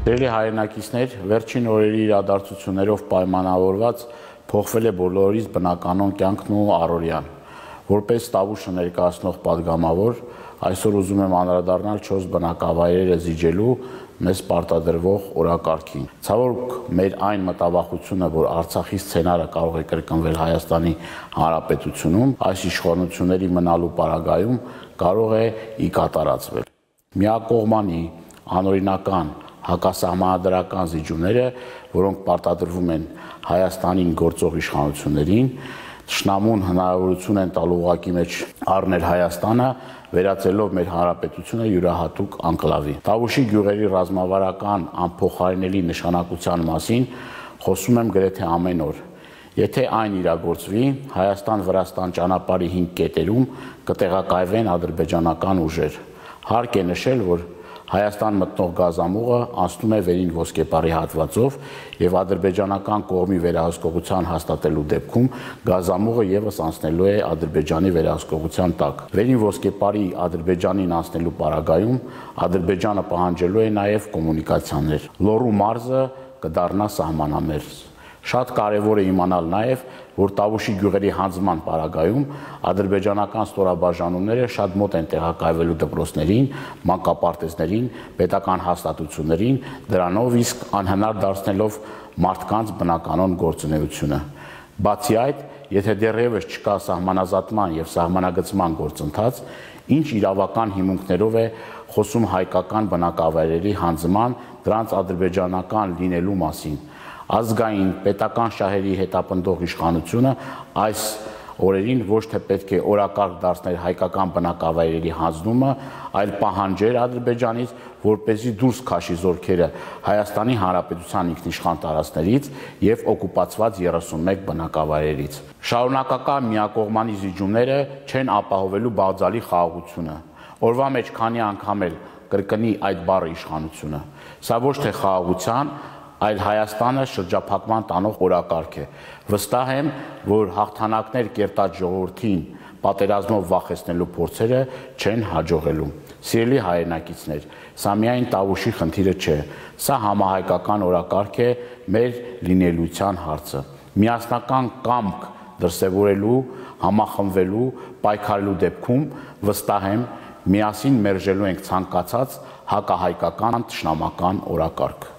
Տերելի հայրենակիցներ, վերջին օրերի իրադարձություններով պայմանավորված փոխվել է բոլորիս բնականոն կյանքն ու առօրյան։ Որպես Տավուշը ներկայացնող падգամավոր, այսօր ուզում եմ անդրադառնալ 4 բնակավայրերը զիջելու մեզ պարտադրվող օրակարգին։ Ցավոք, մեր այն մտավախությունը, որ Արցախի սցենարը կարող է կրկնվել Հայաստանի Հանրապետությունում, այս իշխանությունների մնալու պարագայում կարող է ի կատարածվել։ Միակողմանի, անօրինական, հակասահմանադրական զիջումները, որոնք պարտադրվում են Հայաստանին գործող իշխանություններին, թշնամուն հնարավորություն են տալու ուղղակի մեջ առնել Հայաստանը, վերածելով մեր հանրապետությունը յուրահատուկ անկլավի։ Տավուշի գյուղերի ռազմավարական անփոխարինելի նշանակության մասին խոսում եմ գրեթե ամեն օր։ Եթե այն իրագործվի, Հայաստան-Վրաստան ճանապարհի 5 կետերում կտեղակայվեն ադրբեջանական ուժեր։ Հարկ է նշել, որ Հայաստան մտնող գազամուղը անցնում է վերին ոսկեպարի հատվածով եւ ադրբեջանական կողմի վերահսկողության հաստատելու դեպքում գազամուղը եւս անցնելու է Ադրբեջանի վերահսկողության տակ։ Վերին ոսկեպարի Ադրբեջանին անցնելու պարագայում Ադրբեջանը պահանջելու է նաեւ կոմունիկացիաներ։ Լոռու մարզը կդառնա սահմանամերձ։ Շատ կարևոր է իմանալ նաև, որ Տավուշի գյուղերի հանձնման պարագայում ադրբեջանական ստորաբաժանումները շատ մոտ են տեղակայվելու դպրոցներին, մանկապարտեզներին, պետական հաստատություններին, դրանով իսկ անհնար դարձնելով մարդկանց բնականոն գործունեությունը։ Բացի այդ, եթե դեռևս չկա սահմանազատման եւ սահմանագծման գործընթաց, ինչ իրավական հիմունքներով է խոսում հայկական բնակավայրերի հանձնման, դրանց ադրբեջանական լինելու մասին։ Ազգային պետական շահերի հետապնդող իշխանությունը այս օրերին ոչ թե պետք է օրակարգ դարձնել հայկական բնակավայրերի հանձնումը, այլ պահանջեր Ադրբեջանից, որպեսզի դուրս քաշի զորքերը Հայաստանի Հանրապետության ինքնիշխան տարածքներից եւ օկուպացված 31 բնակավայրերից։ Շարունակական միակողմանի զիջումները չեն ապահովելու բաղձալի խաղաղությունը։ Օրվա մեջ քանի անգամ էլ կրկնի այդ բառը իշխանությունը։ Սա ոչ թե խաղաղության, այլ Հայաստանը շրջափակման տանող օրակարգ է։ Վստահ եմ, որ հաղթանակներ կերտած ժողովրդին պատերազմով վախեցնելու փորձերը չեն հաջողելու։ Սիրելի հայրենակիցներ, սա միայն Տավուշի խնդիրը չէ, սա համահայկական օրակարգ է մեր լինելիության հարցը։ Միասնական կամք դրսևորելու, համախմբվելու, պայքարելու դեպքում վստահ եմ, միասին մերժելու ենք ցանկացած հակահայկական թշնամական օրակարգ։